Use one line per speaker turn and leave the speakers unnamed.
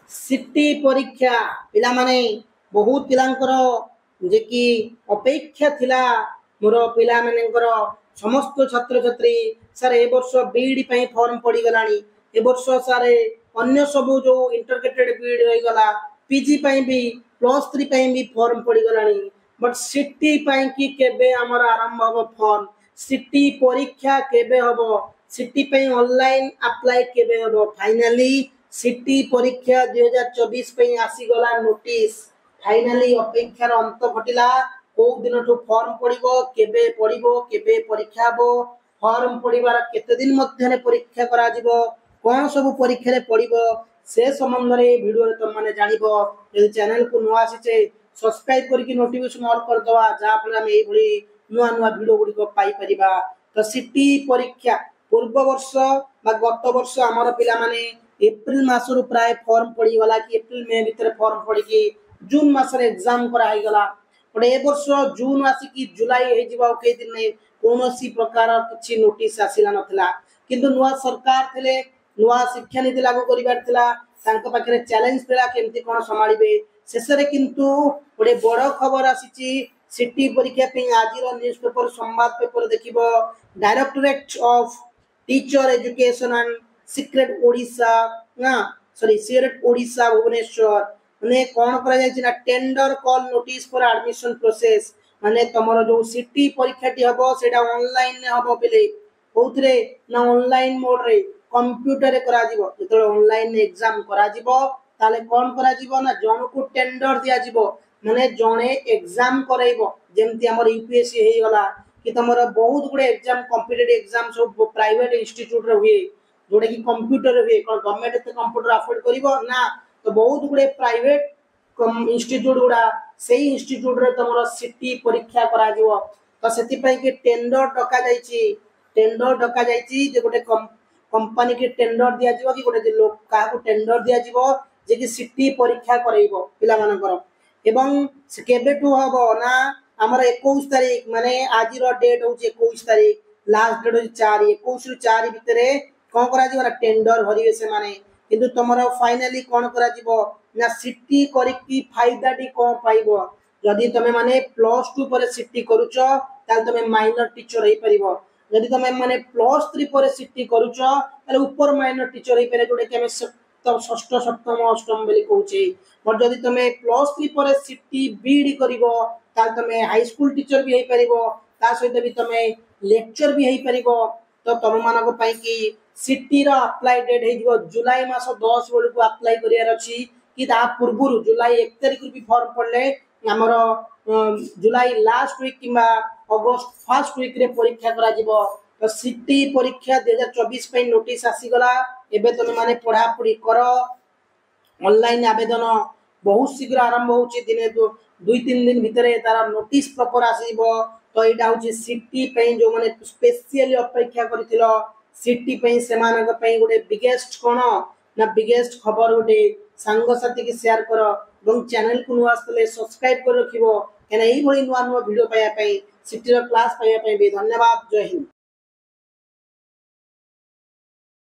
City ପରୀକ୍ଷା ପିଲାମାନେ, ବହୁତ ପିଲାଙ୍କର ଯେ କି ଅପେକ୍ଷା ଥିଲା, ମୋର ପିଲାମାନଙ୍କର ସମସ୍ତ ଛାତ୍ରଛାତ୍ରୀ, ସାର୍ ଏ ବର୍ଷ ବିଇଡି ପାଇଁ ଫର୍ମ ପଡ଼ିଗଲାଣି, ଏ ବର୍ଷ ସାର୍ ଅନ୍ୟ ସବୁ ଯୋଉ ଇଣ୍ଟରଗ୍ରେଟେଡ୍ ବିଇଡି ରହିଗଲା, ପିଜି ପାଇଁ ବି, +3 ପାଇଁ ବି ଫର୍ମ ପଡ଼ିଗଲାଣି, ବଟ୍ ସିଟି ପାଇଁ କି କେବେ ଆମର ଆରମ୍ଭ ହବ ଫର୍ମ, ସିଟି ପରୀକ୍ଷା କେବେ ହବ, ସିଟି ପାଇଁ ଅନଲାଇନ ଆପ୍ଲାଏ କେବେ ହବ? ଫାଇନାଲି ସିଟି ପରୀକ୍ଷା 2024 ପାଇଁ ଆସିଗଲା ନୋଟିସ। ଫାଇନାଲି ଅପେକ୍ଷାର ଅନ୍ତ ଘଟିଲା। କୋଉ ଦିନଠୁ ଫର୍ମ ପଡ଼ିବ, କେବେ ପଡ଼ିବ, କେବେ ପରୀକ୍ଷା ହବ, ଫର୍ମ ପଡ଼ିବାର କେତେ ଦିନ ମଧ୍ୟରେ ପରୀକ୍ଷା କରାଯିବ, କଣ ସବୁ ପରୀକ୍ଷାରେ ପଡ଼ିବ, ସେ ସମ୍ବନ୍ଧରେ ଏ ଭିଡ଼ିଓରେ ତମମାନେ ଜାଣିବ। ଯଦି ଚ୍ୟାନେଲକୁ ନୂଆ ଆସିଛେ, ସବସ୍କ୍ରାଇବ କରିକି ନୋଟିଫିକେସନ ଅଲ୍ କରିଦେବା, ଯାହାଫଳରେ ଆମେ ଏଇଭଳି ନୂଆ ନୂଆ ଭିଡ଼ିଓ ଗୁଡ଼ିକ ପାଇପାରିବା। ତ ସିଟି ପରୀକ୍ଷା ପୂର୍ବ ବର୍ଷ ବା ଗତ ବର୍ଷ ଆମର ପିଲାମାନେ ଏପ୍ରିଲ ମାସରୁ ପ୍ରାୟ ଫର୍ମ ପଡ଼ିଗଲା କି ଏପ୍ରିଲ ମେ ଭିତରେ ଫର୍ମ ପଡ଼ିକି ଜୁନ ମାସରେ ଏକ୍ଜାମ କରାହେଇଗଲା। ବଟ୍ ଏ ବର୍ଷ ଜୁନ ଆସିକି ଜୁଲାଇ ହେଇଯିବ ଆଉ କେଇ ଦିନ ନାହିଁ, କୌଣସି ପ୍ରକାର କିଛି ନୋଟିସ ଆସିଲା ନଥିଲା। କିନ୍ତୁ ନୂଆ ସରକାର ଥିଲେ, ନୂଆ ଶିକ୍ଷାନୀତି ଲାଗୁ କରିବାର ଥିଲା, ତାଙ୍କ ପାଖରେ ଚ୍ୟାଲେଞ୍ଜ ଥିଲା କେମିତି କଣ ସମ୍ଭାଳିବେ। ଶେଷରେ କିନ୍ତୁ ଗୋଟେ ବଡ ଖବର ଆସିଛି ସିଟି ପରୀକ୍ଷା ପାଇଁ। ଆଜିର ନ୍ୟୁଜ ପେପର ସମ୍ବାଦ ପେପର ଦେଖିବ, Directorate of Teacher Education and CRED Odisha ନା ସରି ସିରେଟ୍ ଓଡ଼ିଶା ଭୁବନେଶ୍ୱର, ମାନେ କଣ କରାଯାଇଛି ନା tender call notice for admission process। ମାନେ ତମର ଯୋଉ ସିଟି ପରୀକ୍ଷାଟି ହବ, ସେଇଟା ଅନଲାଇନରେ ହବ ପିଲେ। କୋଉଥିରେ ନା ଅନଲାଇନ ମୋଡରେ, କମ୍ପ୍ୟୁଟରରେ କରାଯିବ। ଯେତେବେଳେ ଅନଲାଇନ ଏକ୍ଜାମ କରାଯିବ, ତାହେଲେ କଣ କରାଯିବ ନା ଜଣକୁ ଟେଣ୍ଡର ଦିଆଯିବ, ମାନେ ଜଣେ ଏକ୍ଜାମ କରାଇବ। ଯେମିତି ଆମର ୟୁପିଏସସି ହେଇଗଲା କି ତମର ବହୁତ ଗୁଡେ ଏକ୍ଜାମ, କମ୍ପିଟେଟିଭ ଏକ୍ଜାମ ସବୁ ପ୍ରାଇଭେଟ ଇନଷ୍ଟିଚ୍ୟୁଟରେ ହୁଏ, ଯୋଉଟା କି କମ୍ପ୍ୟୁଟରରେ ହୁଏ। କଣ ଗଭର୍ଣ୍ଣମେଣ୍ଟ ଏତେ କମ୍ପ୍ୟୁଟର ଆଫୋର୍ଡ କରିବ ନା? ତ ବହୁତ ଗୁଡେ ପ୍ରାଇଭେଟ ଇନଷ୍ଟିଚ୍ୟୁଟ ଗୁଡା, ସେଇ ଇନଷ୍ଟିଚ୍ୟୁଟରେ ତମର ସିଟି ପରୀକ୍ଷା କରାଯିବ। ତ ସେଥିପାଇଁ କି ଟେଣ୍ଡର ଡକାଯାଇଛି। ଟେଣ୍ଡର ଡକାଯାଇଛି ଯେ ଗୋଟେ କମ୍ପାନୀ କି ଟେଣ୍ଡର ଦିଆଯିବ କି ଗୋଟେ ଲୋକ କାହାକୁ ଟେଣ୍ଡର ଦିଆଯିବ ଯେ କି ସିଟି ପରୀକ୍ଷା କରେଇବ ପିଲାମାନଙ୍କର। ଏବଂ ସେ କେବେଠୁ ହବ ନା ଆମର 21 ତାରିଖ, ମାନେ ଆଜିର ଡେଟ୍ ହଉଛି 21 ତାରିଖ, ଲାଷ୍ଟ ଡେଟ୍ ହଉଛି 4। 21ରୁ 4 ଭିତରେ କଣ କରାଯିବ ନା ଟେଣ୍ଡର ଭରିବେ ସେମାନେ। କିନ୍ତୁ ତମର ଫାଇନାଲି କଣ କରାଯିବ ନା ସିଟି କରିକି ଫାଇଦାଟି କଣ ପାଇବ? ଯଦି ତମେ ମାନେ +2 ପରେ ସିଟି କରୁଛ, ତାହେଲେ ତମେ ମାଇନର ଟିଚର ହେଇପାରିବ। ଯଦି ତମେ ମାନେ +3 ପରେ ସିଟି କରୁଛ, ତାହେଲେ ଉପର ମାଇନର ଟିଚର ହେଇପାରିବ, ଯୋଉଟା କି ଆମେ ଷଷ୍ଠ, ସପ୍ତମ, ଅଷ୍ଟମ ବୋଲି କହୁଛେ। ବଟ୍ ଯଦି ତମେ +3 ପରେ ସିଟି ବିଇଡି କରିବ, ତାହେଲେ ତମେ ହାଇସ୍କୁଲ ଟିଚର ବି ହେଇପାରିବ, ତା ସହିତ ବି ତମେ ଲେକ୍ଚର ବି ହେଇପାରିବ। ତ ତମମାନଙ୍କ ପାଇଁ କି ସିଟିର ଆପ୍ଲାଏ ଡେଟ୍ ହେଇଯିବ ଜୁଲାଇ ମାସ 10 ବେଳକୁ ଆପ୍ଲାଏ କରିବାର ଅଛି, କି ତା ପୂର୍ବରୁ ଜୁଲାଇ 1 ତାରିଖରୁ ବି ଫର୍ମ ପଡ଼ିଲେ ଆମର ଜୁଲାଇ ଲାଷ୍ଟ ୱିକ୍ କିମ୍ବା ଅଗଷ୍ଟ ଫାର୍ଷ୍ଟ ୱିକ୍ରେ ପରୀକ୍ଷା କରାଯିବ। ତ ସିଟି ପରୀକ୍ଷା 2024 ପାଇଁ ନୋଟିସ ଆସିଗଲା। ଏବେ ତମେ ମାନେ ପଢାପଢି କର। ଅନଲାଇନ ଆବେଦନ ବହୁତ ଶୀଘ୍ର ଆରମ୍ଭ ହଉଛି। ଦିନେ 2-3 ଦିନ ଭିତରେ ତାର ନୋଟିସ ପ୍ରପର ଆସିଯିବ। ତ ଏଇଟା ହଉଛି ସିଟି ପାଇଁ ଯୋଉମାନେ ସ୍ପେସିଆଲି ଅପେକ୍ଷା କରିଥିଲ ସିଟି ପାଇଁ, ସେମାନଙ୍କ ପାଇଁ ଗୋଟେ ବିଗେଷ୍ଟ କଣ ନା ବିଗେଷ୍ଟ ଖବର ଗୋଟେ। ସାଙ୍ଗସାଥିକି ସେୟାର କର ଏବଂ ଚ୍ୟାନେଲକୁ ନୂଆ ଆସିଥିଲେ ସବସ୍କ୍ରାଇବ କରି ରଖିବ, କାହିଁକିନା ଏଇଭଳି ନୂଆ ନୂଆ ଭିଡ଼ିଓ ପାଇବା ପାଇଁ, ସିଟିର କ୍ଲାସ୍ ପାଇବା ପାଇଁ ବି। ଧନ୍ୟବାଦ, ଜୟ ହିନ୍ଦ।